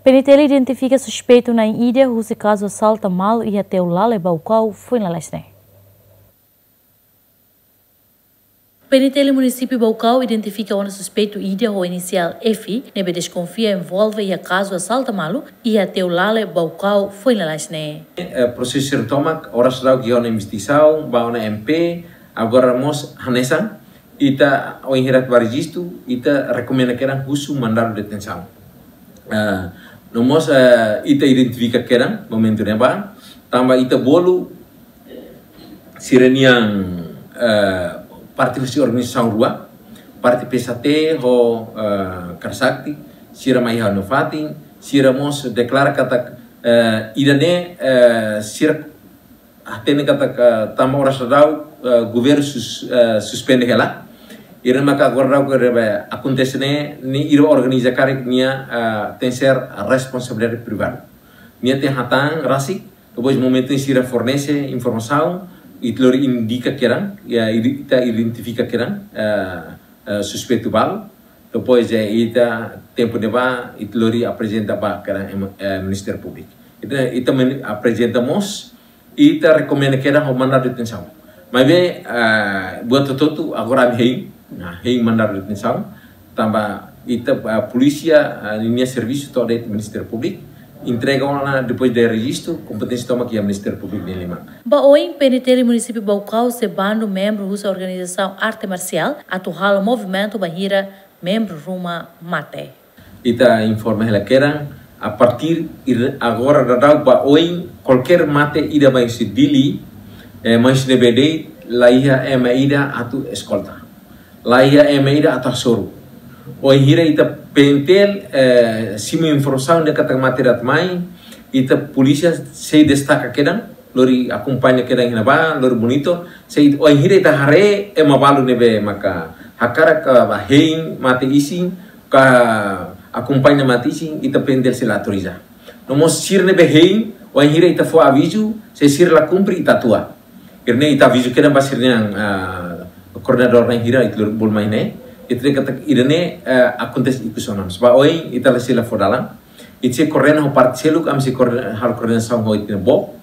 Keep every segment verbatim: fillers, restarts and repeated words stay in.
PNTL identifika suspeitu na'in ida husi kazu asalta malu iha Teulale, Baucau, foin lalais ne'e. PNTL Munisípiu Baucau identifika ona suspeitu ida ho inisiál F, ne'ebé deskonfia envolve iha kazu asalta malu iha Teulale, Baucau, foin lalais ne'e. Eh, prosesu sira tomak, oras daudauk iha ona investigasaun, ba ona M P, agora mós hanesan, ita ohin hirak ba rejistu, ita rekomenda kedan husu mandadu detensaun. Eh, no mós, eh, ita identifika kedan momentu ne'ebá, tanba ita bolu sira-nian, eh, parte husi organizasaun rua, parte P S H T ho, eh, Karasakti, sira mai iha ona fatin, sira mós deklara katak, eh, ida-ne'e, eh, sira hatene katak, eh, tanba oras daudauk, eh, governu sus-, eh, suspende hela. Ida-ne'e maka agora daudauk ne'ebé akontese ne'e, ne'e ida organiza karik nia, eh, tenke ser responsabilidade privadu. Nia tenke hatán rasik, depois momentu ne'e sira fornese informasaun, ita lori indika kedan, ya, ita identifika kedan, eh, eh, suspeitu balu, depois, eh, ita tempu ne'ebá, ita lori aprezenta ba kedan, em, eh, Ministériu Públiku. Ita, ita men-, aprezenta mós, ita rekomenda kedan ho mandadu detensaun. Maibé, eh, buat hotu-hotu, agora ami hein, nah, hein mandadu detensaun, tanba ita, ah, polísia, ah, ninia servisu to'o de'it Ministériu Públiku, entrega ona depois de rejistu, kompeténsia tomak iha Ministériu Públiku nia liman. Ba oin, PNTL Munisípiu Baucau sei bandu membru husi organizasaun arte marsiál atu halo movimentu bainhira membru ruma mate. Ita informa hela kedan, a partir ir-, agora daudauk ba oin, kualkér mate ida mai husi Dili, eh, mai husi ne'ebé de'it, laiha ema ida atu eskolta. Laiha ema ida atu hasoru. Wainhira ita PNTL, eh, simu informasaun dehan katak mate ida atu mai, ita polísia sei destaka kedan, lori akompaña kedan iha ne'ebá, lori monitor, sei wainhira ita haree ema balu ne'ebé maka hakarak, ah, ba hein mate isin, ka akompaña mate isin, ita PNTL sei la autoriza. No mós sira ne'ebé hein, wainhira ita fó avizu, se sira la kumpre, ita tua. Ida-ne'e ita avizu kedan ba sira-nian, ah, koordenadór na'in hira, ita lori bolu mai ne'e. Ita dehan katak ida-ne'e, eh, akontese ikus ona. Ba oin, ita la sei la fó dalan. Ita sei koordena ho parte seluk, ami sei koordena, halo koordenasaun ho ita-nia boot.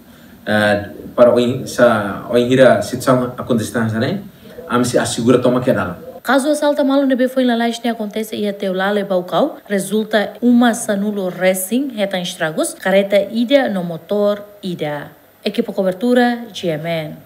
Eh, para oin, se wainhira situasaun akontese hanesan ne'e, ami sei asegura tomak kedan. Kazu asalta malu ne'ebé foin lalais ne'e akontese iha Teulale, Baucau, rezulta uma sanulu resin hetan estragus, karreta ida no motór ida. Ekipa kobertura, G M N.